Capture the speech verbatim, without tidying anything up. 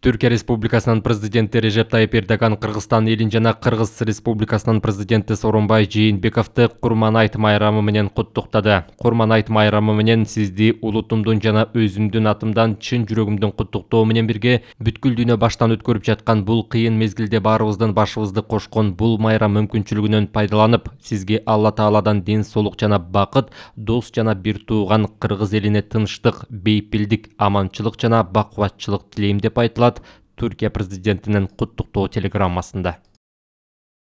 Түркия Республикасынын президенти Режеп Тайып Эрдоган Кыргызстан элин жана Кыргыз Республикасынын президенти Сооронбай Жээнбековду Курман айт майрамы менен куттуктады. Курман айт майрамы менен сизди улутумдун жана өзүмдүн атымдан чын жүрөгүмдөн куттуктоо менен бирге бүткүл дүйнө баштан өткөрүп жаткан бул кыйын мезгилде баарыбыздын башыбызды кошкон бул майрам мүмкүнчүлүгүнөн пайдаланып, сизге Алла Тааладан ден соолук жана бакыт, дос жана бир тууган Кыргыз элине тынчтык, бейпилдик, аманчылык жана бакубатчылык тилейм деп айтылат Түркия президентинин куттуктоо телеграммасында.